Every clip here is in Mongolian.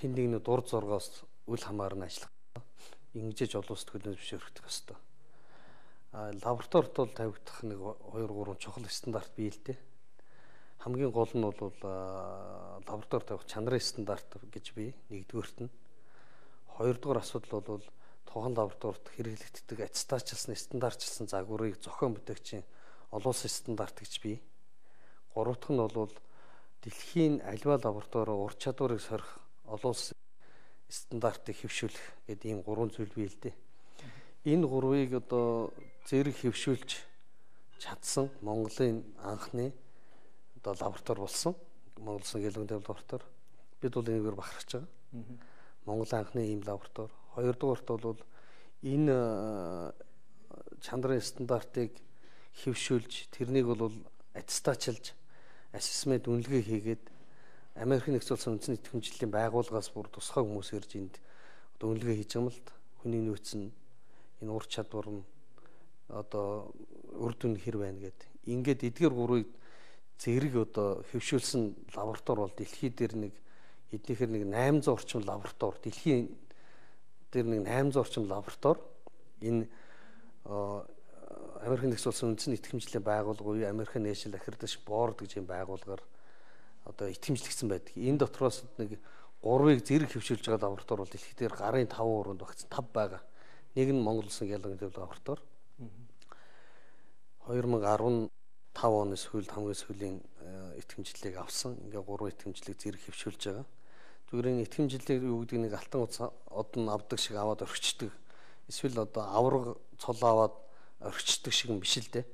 хэн нэгний дур зоргоос үл хамааран ажиллах. Ингэж олон улсад хөлөө зөвшөөрөх ёстой. Лабораторид бол тавигдах нэг 2 3 чухал стандарт бий л дээ. Хамгийн гол нь бол лабораторид тавих чанарын стандарт гэж бий. Нэгдүгээрт нь. Хоёрдугаар асуудал бол тухайн лабораторид хэрэглэгддэг аттестатчилсан стандартчилсан загварыг зохион бүтээгчийн олон улсын стандарт гэж бий. Гурав дахь нь бол дэлхийн аливаа лабораторио ур чадварыг сорих олон улсын стандартыг хэвшүүлэх гэдэг ийм 3 зүйл бий л дээ. Энэ гурвыг зэрэг хэвшүүлж чадсан Монголын анхны лаборатори болсон. Монгол Улсын гэлэг лаборатори. Бид бол энэгээр бахархаж байгаа. Монголын анхны ийм лаборатори. Хоёрдугаарт бол энэ чанарын стандартыг хэвшүүлж тэрнийг бол аттестатчилж ассесмент үнэлгээ хийгээд Америкийн нэгдсэн улсын үндэсний идэвхжлийн байгууллагаас бүр тусгай хүмүүс ирж энд үнэлгээ хийж байгаа юм л да. Хүний нөөц нь энэ ур чадвар нь үр дүн хэр байна гэд. Ингээд эдгээр гурвыг зэрэг хэвшүүлсэн лаборатори бол дэлхий дээр эднийхэр 800 орчим лаборатори дэлхийн дээр 800 орчим лаборатори энэ Америкийн нэгдсэн улсын үндэсний идэвхжлийн байгууллага, American National Accreditation Board гэж юм байгууллагаар итгэмжлэгдсэн байдаг. Энэ дотроос нэг 3-ыг зэрэг хэвшүүлж байгаа лаборатори бол дэлхийд дээр гарын 5 өрөөнд багц 5 байгаа. Нэг нь Монгол Улсын гэлэг лаборатори. 2015 оны сүүлд хамгийн сүүлийн итгэмжлэлийг авсан. Ингээ 3 итгэмжлэлийг зэрэг хэвшүүлж байгаа. Зүгээр энэ итгэмжлэлийг юу гэдэг нэг алтан од нь авдаг шиг аваад орхичдаг. Эсвэл авраг цол аваад орхичдаг шиг юм биш л дээ.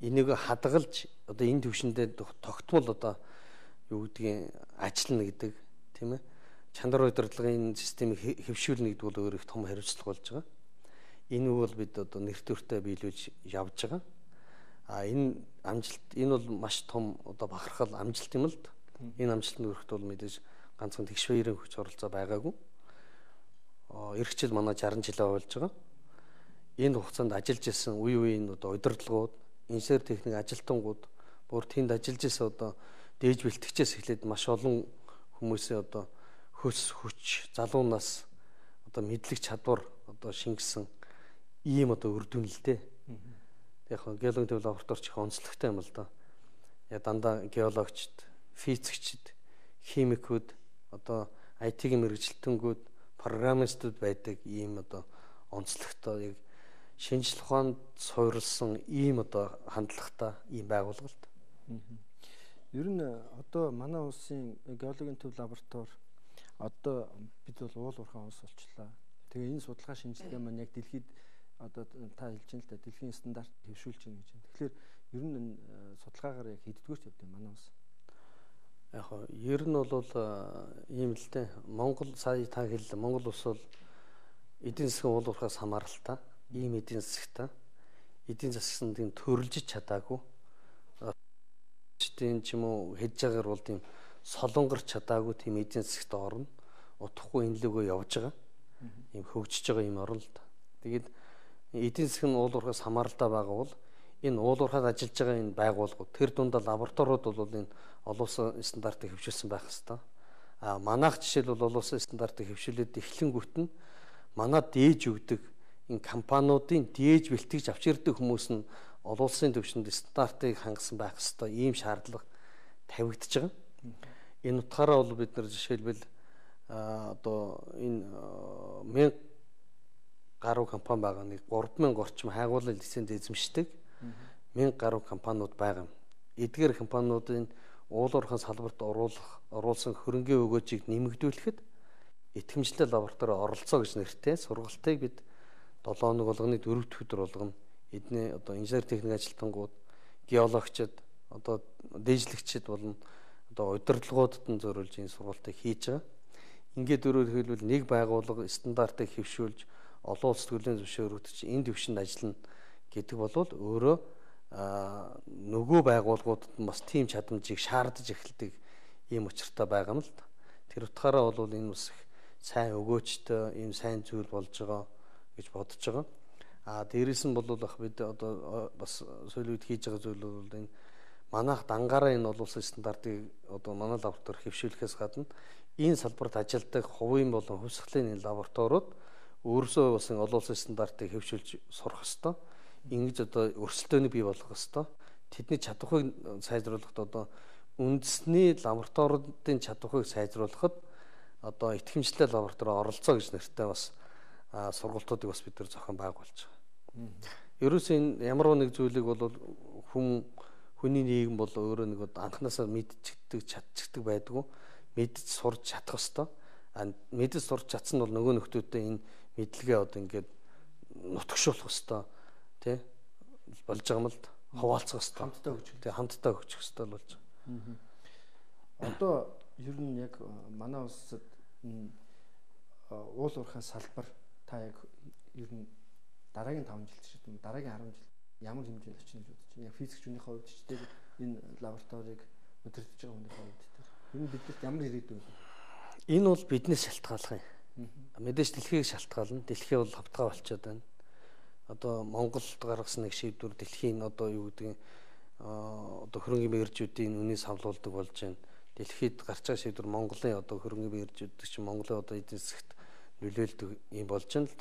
Энийг хадгалж энэ төвшөндөө тогтмол юу гэдгийг ажиллана гэдэг тийм ээ. Чанар удирдлагын системийг хэвшүүлнэ гэдэг бол өөр их том хариуцлага болж байгаа. Энэ бол бид нэр төртөө биелүүлж явж байгаа. Энэ амжилт энэ бол маш том бахархал амжилт юм л да. Энэ амжилтанд хүрэхэд бол мэдээж ганцхан тэгш баярын хүч оролцоо байгаагүй. Эх жил манай 60 жилээ болж байгаа. Энэ хугацаанд ажиллаж исэн үеийн удирдлагууд, инженер техник ажилтнууд бүр тэнд ажиллаж исэн дээж бэлтгэгчээс эхлээд маш олон хүмүүсийн хөс хүч, залуу нас мэдлэг чадвар шингэсэн ийм үр дүн л дээ. Яг геологийн төв лабораторич их онцлогтой юм л да. Дандаа геологчд, физикчд, химикүүд, IT-ийн мэргэжилтэнгүүд, программистууд байдаг ийм онцлогтой яг шинжлэх ухаанд суурилсан ийм хандлагатай ийм байгууллага л да. Ер нь манай улсын геологийн төв лаборатори бид бол уул уурхайн улс болчлаа. Тэгээ энэ судалгаа шинжилгээ маань яг дэлхийд та хэлж байна л да дэлхийн стандарт хэвшүүлж байна гэж байна. Тэгэхээр ер нь судалгаагаар яг хэддүгээрт явд юм манай улс. Яг ер нь бол ийм л дээ. Монгол сая та хэллээ. Монгол улс бол эдийн засгийн уул уурхаас хамааралтай. Ийм эдийн засагтай. Эдийн засгийн төрөлжиж чадаагүй. Тийм ч юм уу хийж байгаагаар бол тийм солонгорч чадаагүй тийм эдийн засагт орно. Утахгүй энэ лүгөө явж байгаа. Ийм хөгжиж байгаа юм орно л да. Тэгээд эдийн засгийн уул уурхаас хамааралтай байгаа бол энэ уул уурхад ажиллаж байгаа энэ байгууллагууд тэр дундаа лабораториуд бол энэ олон улсын стандартыг хэвшүүлсэн байх хэвээр. Манайх жишээл бол олон улсын стандартыг хэвшүүлээд эхлэнгүүт нь манад дээж өгдөг энэ компаниудын дээж бэлтгэж авч ирдэг хүмүүс нь олон улсын төвшөнд стандартыг хангасан байх хэвээр ийм шаардлага тавигдж байгаа. Энэ утгаараа бол бид нар жишээлбэл энэ 1000 гаруй компани байгаа нэг 3000 орчим хайгуулын лиценз эзэмшдэг 1000 гаруй компаниуд байгаа юм. Эдгээр компаниудын уул уурхайн салбарт оруулсан хөрөнгөний өгөөжийг нэмэгдүүлэхэд итгэмжлэл лаборатори оролцоо гэж нэртэй сургалтыг бид 7 хоног болгоны 4 дахь өдөр болгоно. Эдний инженер техник ажилтнууд, геологчид, дээжлэгчид болон удирдлагуудад нь зориулж энэ сургалтыг хийж байгаа. Ингээд өөрөөр хэлбэл нэг байгууллага стандартыг хэвшүүлж олон улс төрлийн зөвшөөрөгдөж энэ төвшөнд ажиллана гэдэг бол өөрөө нөгөө байгууллагуудад бас тийм чадамжийг шаардаж эхэлдэг ийм учиртай байгаа юм л да. Тэр утгаараа бол энэ бас их сайн өгөөжтэй ийм сайн зүйл болж байгаа гэж бодож байгаа. Дээрээс нь бол бид бас сүүлийн үед хийж байгаа зүйл бол энэ манайх дангаараа энэ олон улсын стандартыг манай лаборатори хэвшүүлэхээс гадна энэ салбарт ажилладаг хувийн болон хувьсгалын лабораториуд өөрсдөө бас олон улсын стандартыг хэвшүүлж сурах ёстой. Ингэж одоо өрсөлдөөнийг бий болгох ёстой. Тэдний чадварыг сайжруулахад одоо үндэсний лабораториудын чадварыг сайжруулахад одоо итгэмжлэлтэй лаборатори оролцоо гэж нэртэй бас сургалтуудыг бас бид нар зохион байгуулж байгаа. Ерөөсөө энэ ямар нэг зүйлийг бол хүний нийгэм бол өөрөө нэг анханасаа мэдчихдэг, чадчихдаг байдгүй. Мэдж сурч чадах ёстой. Мэдж сурч чадсан бол нөгөө нөхдөөдөө энэ мэдлэгээ одоо ингээд нутагшуулах ёстой. Тэ болж байгаа юм л да. Хуваалцах ёстой. Хамтдаа хөгжих ёстой болж байгаа. Одоо ер нь яг манай улсад уул уурхай салбар та яг ер нь дараагийн 5 жилд ч юм уу дараагийн 10 жилд ямар хэмжээнд очно гэж бодож байна. Яг физикч хүний хувьд ч тэр энэ лабораторийг удирдах байгаа хүний хувьд тэр ер нь биднэрт ямар ирээдүй вэ? Энэ бол биднээс шалтгааллах юм. Мэдээж дэлхийг шалтгаална. Дэлхий бол хавтгай болчиход байна. Одоо Монголд гаргасан нэг шийдвэр дэлхийн одоо юу гэдэг одоо хөрөнгөний мэргэжүүдийн үнийн савлуулдаг болж байна. Дэлхийд гарч байгаа шийдвэр Монголын одоо хөрөнгөний мэргэжүүд чинь Монголын одоо эдийн засагт нөлөөлдөг юм болж байна л.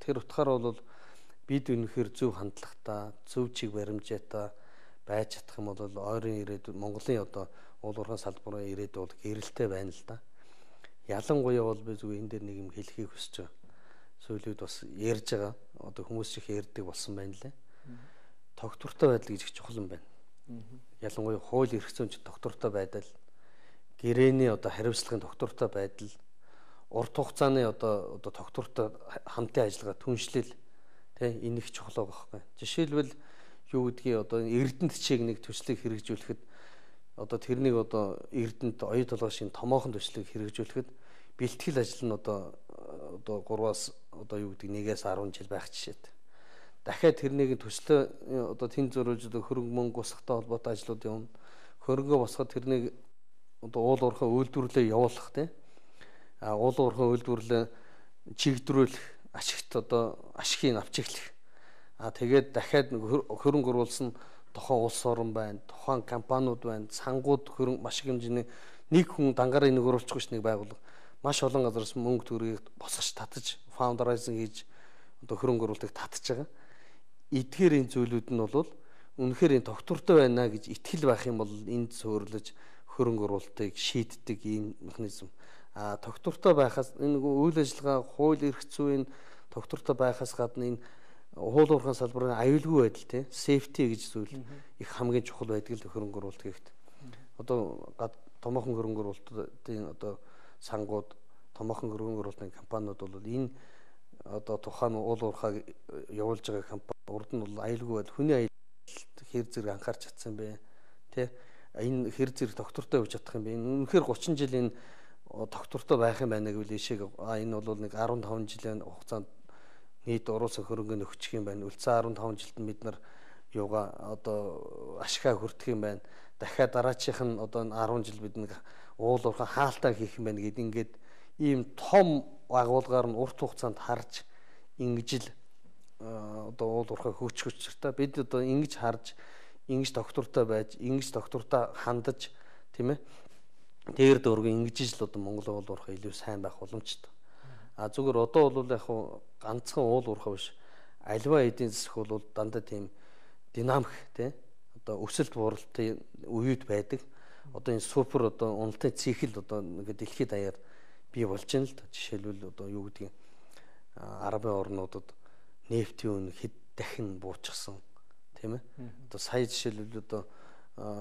Тэр утгаараа бол бид үнэхээр зөв хандлагатай, зөв чиг баримжаатай байж чадах юм бол ойрын ирээдүйд Монголын одоо уул уурхай салбарын ирээдүй бол гэрэлтэй байна л да. Ялангуяа бол би зүгээр энэ дээр нэг юм хэлхийг хүсэж байгаа. Сөүлүүд бас ярьж байгаа. Одоо хүмүүс их ярьдаг болсон байна лээ. Тогтвортой байдал гэж их чухал юм байна. Ялангуяа хууль эрх зүйн тогтвортой байдал, гэрээний одоо хариуцлагын тогтвортой байдал, урт хугацааны одоо тогтвортой хамтын ажиллагаа түншлэл энэ их чухал байгаа байхгүй. Жишээлбэл юу гэдгийг одоо Эрдэнэт чиг нэг төслийг хэрэгжүүлэхэд одоо тэрнийг одоо Эрдэнэт оюу толгой шин томоохон төслийг хэрэгжүүлэхэд бэлтгэл ажил нь одоо 3-аас одоо юу гэдэг 1-ээс 10 жил байх жишээтэй. Дахиад тэрнийг төслөө одоо тэн зөрүүлж хөрөнгө мөнгө босгохтой холбоотой ажлууд явна. Хөрөнгөө босгоход тэрнийг одоо уул уурхай үйлдвэрлэлээ явуулах тийм. Уул уурхай үйлдвэрлэлээ чигдрүүлэх, ашигт одоо ашигыг авч эхлэх. Тэгээд дахиад хөрөнгө оруулсан тухайн улс орн байна, тухайн компаниуд байна, сангууд хөрөнгө маш их хэмжээний нэг хүн дангаараа энийг оруулахгүй ш нэг байгууллага маш олон газараас мөнгө төгрөгийг босгож татаж, фаундерайзинг хийж одоо хөрөнгө оруулалтыг татж байгаа. Эдгээр энэ зүйлүүд нь бол үнэхээр энэ тогтвортой байна гэж итгэл байх юм бол энд суурилж хөрөнгө оруулалтыг шийддэг ийм механизм. Тогтвортой байхаас энэ үйл ажиллагаа, хууль эрх зүйн тогтвортой байхаас гадна энэ уул уурхай салбарын аюулгүй байдал тийм safety гэж зүйл их хамгийн чухал байдаг л хөрөнгө оруулалт гэхэд. Одоо томоохон хөрөнгө оруулалтын одоо сангууд, томоохон хөрөнгө оруулалтын компаниуд бол энэ одоо тухайн уул уурхай явуулж байгаа компани урд нь бол аюулгүй байдал, хүний аюулт хэр зэрэг анхаарч чадсан бэ тий энэ хэр зэрэг тогтвортой явж чадах юм бэ? Үнэхээр 30 жилийн тогтвортой байх юм байна гэвэл ишээ энэ бол нэг 15 жилийн хугацаанд нийт оруулсан хөрөнгө нөхчих юм байна. Үлцэн 15 жилд нь бид нар юугаа одоо ашигаа хүртэх юм байна. Дахиад дараачих нь одоо 10 жил бид нэг уул уурхай хаалтаа хийх юм байна гэдэг ингээд ийм том агуулгаар нь урт хугацаанд харж ингэж л одоо уул уурхай хөгжих учиртай бид одоо ингэж харж ингэж доктортой байж ингэж доктортой хандаж тийм ээ дээр дөрөв ингэж л одоо Монголын уул уурхай илүү сайн байх боломжтой. Зүгээр одоо бол яг ганцхан уул уурхай биш альва эдийн засаг бол дандаа тийм динамик тийм одоо өсөлт бууралтын үед байдаг. Одоо энэ супер одоо уналтын цикл одоо ингээд дэлхийд даяар бий болж байна л да. Жишээлбэл одоо юу гэдгийг арабын орнуудад нефтийн үн хэд дахин буурчихсан тийм ээ. Одоо сая жишээлбэл одоо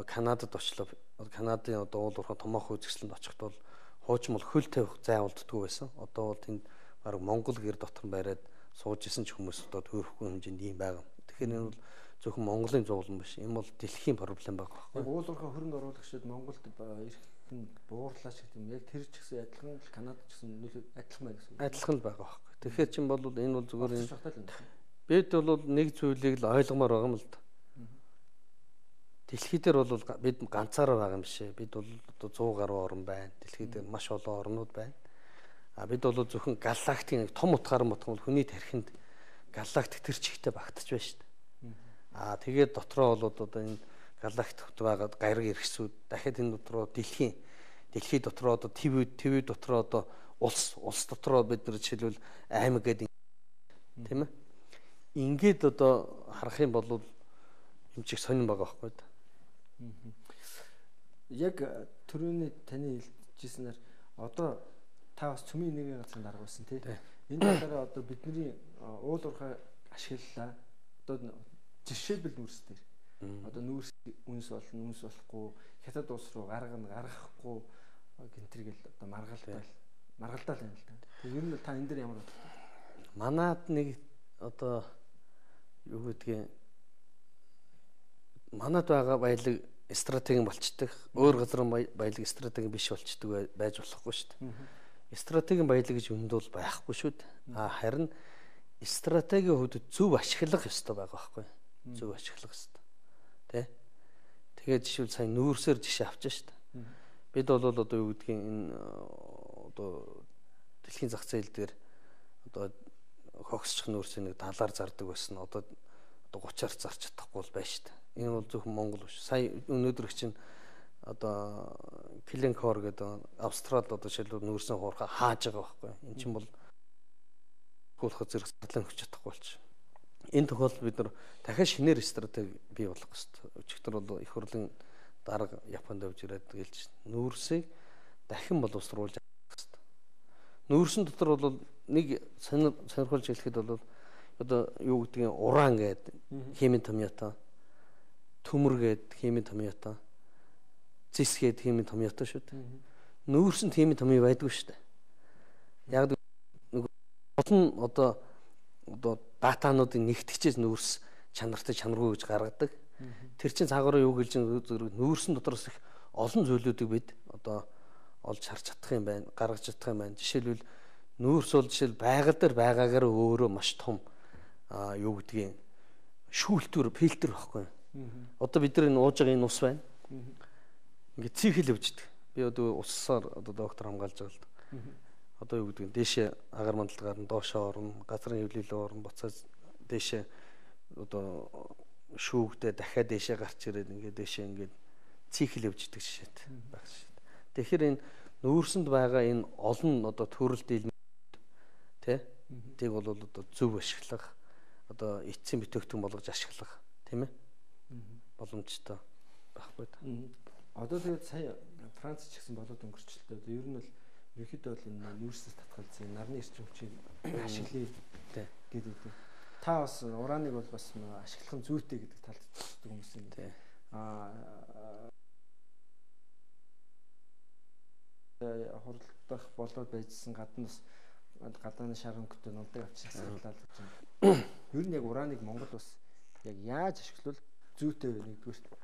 Канадад очлоо. Канадын одоо уул уурхай томоохон үзэсгэлэнд очихд бол хуучин бол хөл тавих зай болддгүй байсан. Одоо бол тэнд бараг Монгол гэр дотор нь бариад сууж исэн ч хүмүүс одоо төрөхгүй хэмжээнд ийм байгаа. Тэгэхээр энэ бол зөвхөн Монголын зовлон биш. Энэ бол дэлхийн проблем байгаа байхгүй. Уул уурхай хөрөнгө оруулагчид Монголд ирэх нь буурлаач гэх юм. Яг тэр ч гэсэн адилхан Канадад ч гэсэн нөлөө адилхан байна гэсэн. Адилхан л байгаа байхгүй. Тэгэхээр чинь бол энэ бол зүгээр энэ бид бол нэг зүйлийг л ойлгомоор байгаа юм л да. Дэлхий дээр бол бид ганцаараа байгаа юм биш ээ. Бид бол одоо 100 гаруй орн байна. Дэлхий дээр маш олон орнууд байна. Бид бол зөвхөн галактикийн том утгаар нь бодох бол хүний тархинд галактик тэр чигтээ багтаж байна шүү дээ. Тэгээд дотроо бол одоо энэ галактикт байгаа гариг эрхсүүд дахиад энэ дотроо дэлхийн дэлхий дотроо одоо ТV дотроо одоо улс дотроо бид нар жишээлбэл аймаг гэдэг тийм ээ. Ингээд одоо харах юм бол юм чих сонирн байгаа байхгүй да. Яг түрүүний таны хэлжсэнээр одоо та бас цөмийн нэгэн газрын дарга байсан тий. Энэ талаараа одоо бидний уул уурхай ашиглалаа. Одоо жишээлбэл нүүрс дээр. Одоо нүүрс үнс болно, үнс болохгүй, хятад улс руу гаргахгүй гэнтэргээл одоо маргалдаа л юм л да. Тэгээ ер нь та энэ дээр ямар бодлоо? Манад нэг одоо юу гэдгийг манад байгаа баялаг стратегийн болчдөг. Өөр газрын баялаг стратегийн биш болчдөг байж болохгүй шүү дээ. Стратегийн баялаг гэж үнд бол байхгүй шүү дээ. Харин стратегийн хувьд зөв ашиглах ёстой байгаа байхгүй. Зөв ашиглах ёстой. Тэ? Тэгээд жишээл сайн нүүрсээр жишээ авчаа шүү дээ. Бид бол одоо юу гэдгийг энэ одоо дэлхийн зах зээл дээр одоо хогсчих нүүрсийн нэг талаар зардаг байсан. Одоо 30-аар зарч чадахгүй бол байна шүү дээ. Энэ бол зөвхөн Монгол биш. Сая өнөөдөр чинь одоо Glencore гэдэг Австралид одоо жишээлбэл нүүрсэн хуурхаа хааж байгаа байхгүй. Энэ чинь бол хуулах зэрэг зарлан өгч чадахгүй болчих. Энэ тохиолдолд бид нар дахиад шинээр стратеги бий болгох хэрэгтэй. Өчигдөр бол их хурлын дарга Японд явж ирээд гэлж нүүрсийг дахин боловсруулж авах хэрэгтэй. Нүүрсэн дотор бол нэг сонирхолж хэлэхэд бол одоо юу гэдгийг уран гэдэг химийн томьёотой, төмөр гэдэг химийн томьёотой, зис гэдэг химийн томьёотой шүү дээ. Нүүрсэнд химийн томьёо байдгүй шүү дээ. Яг нэг олон одоо датануудыг нэгтгэжээс нүүрс чанартай чанаргүй гэж гаргадаг. Тэр чинь цаагаар юу гэлж нүүрсэн дотроос их олон зүйлүүдийг бид одоо олж харж чадах юм байна, гаргаж чадах юм байна. Жишээлбэл нүүрс бол жишээл байгаль дээр байгаагаар өөрөө маш том юу гэдгийг шүүлтүр фильтр байхгүй. Одоо бид нар энэ ууж байгаа энэ ус байна. Ингээд цихэл өвчдөг. Би одоо уссаар одоо доктор хамгаалж байгаа л да. Одоо юу гэдгийг дээшээ агаар мандалгаар нь доошоо орно, газрын хөвлөлөө орно, буцаад дээшээ одоо шүүгдээ дахиад дээшээ гарч ирээд ингээд дээшээ ингээд цихэл өвчдөг жишээд байх шээ. Тэгэхээр энэ нүүрсэнд байгаа энэ олон одоо төрөл дийлмүүд тий тийг бол одоо зөв ашиглах одоо эцсийн бүтээгдэхүүн болгож ашиглах тийм ээ боломжтой байхгүй та. Одоо тэгээд сая Франц ч гэсэн болоод өнгөрчлөлтөө ер нь бол ерөөхдөө бол энэ нүүрсээс татгалзсан нарны эрчим хүчийг ашиглая гэдэг. Та бас урааныг бол бас ашиглах нь зүйтэй гэдэг талд тусдаг хүмүүс юм. Хуралдах болоод байжсэн гаднаас гадааны шар хөнгөтэй нундаг авчирсан саналаа л гэж байна. Ер нь яг урааныг Монгол бас яг яаж ашиглавал зүйтэй вэ нэгдүгээр.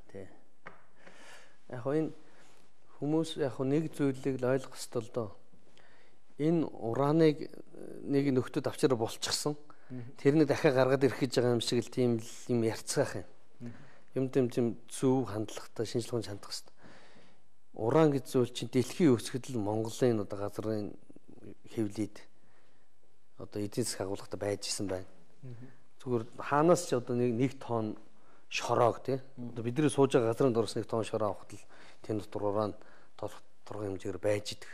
Тий. Яг энэ хүмүүс яг нэг зүйлийг л ойлгох ёстой л доо. Энэ урааныг нэг нөхдөд авчираа болчихсон. Тэрнийг дахиад гаргаад ирэх гэж байгаа юм шиг л тийм юм ярьцгаах юм. Юм зөв хандлагатай шинжилгээ хандах хэрэгтэй. Уран гэж зүйл чинь дэлхийн өсгөд л Монголын одоо газрын хэвлэлд одоо эдийн засаг агуулгатай байж исэн байна. Зүгээр хаанаас ч одоо нэг тонн шороог тий. Одоо бидний сууж байгаа газрын дурс нэг тонн шороо авахд л тийм дотор уран тодорхой хэмжээгээр байж идэг.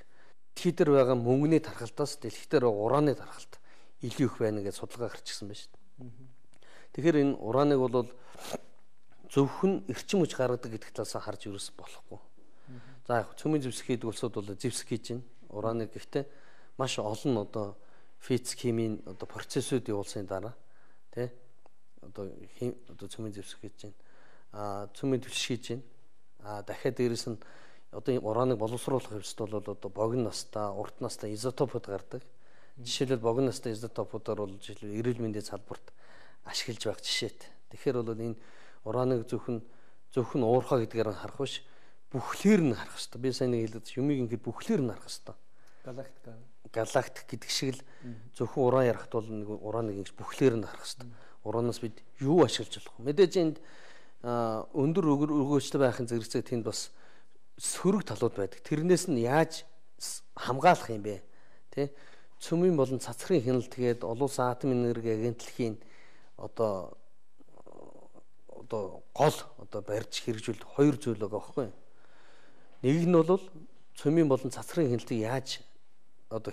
Дэлхий дээр байгаа мөнгөний тархалтаас дэлхий дээр ураны тархалт илүү их байна гэж судалгаа гарчихсан байна шүү дээ. Тэгэхээр энэ ураныг бол зөвхөн эрчим хүч гаргадаг гэдэг талаас харж ерөөс болохгүй. За яг цөмийн зэвсэг хийдэг улсууд бол зэвсэг хийж байна. Ураныг гэхдээ маш олон одоо физик химийн одоо процессыг явуулсны дараа тий одоо цөмийн зэвсэг хийж байна. Цөмийн түлш хийж байна. Дахиад дээрэс нь одоо ураныг боловсруулах хэвчтэй бол одоо богино настай, урт настай изотопууд гардаг. Жишээлбэл богино настай изотопуудаар бол жишээлбэл эрүүл мэндийн салбарт ашиглаж байх жишээт. Тэгэхээр бол энэ ураныг зөвхөн уурхаа гэдгээр нь харах биш, бүхлээр нь харах хэрэгтэй. Би сайн нэг хэлээд юмыг ингээд бүхлээр нь харах хэрэгтэй. Галактик гэдэг шиг л зөвхөн уран ярахт бол нэг ураныг ингэж бүхлээр нь харах хэрэгтэй. Уранаас бид юу ашиглаж болох вэ? Мэдээж энд өндөр өгөөжтэй байхын зэрэгцээ тэнд бас сөрөг талууд байдаг. Тэрнээс нь яаж хамгаалах юм бэ? Тэ? Цөмийн болон цацрын хяналт тэгээд олон улсын атомын энерги агентлагийн одоо гол одоо барьж хэрэгжүүлэх хоёр зүйл байгаа байхгүй. Нэг нь бол цөмийн болон цацрын хяналтыг яаж одоо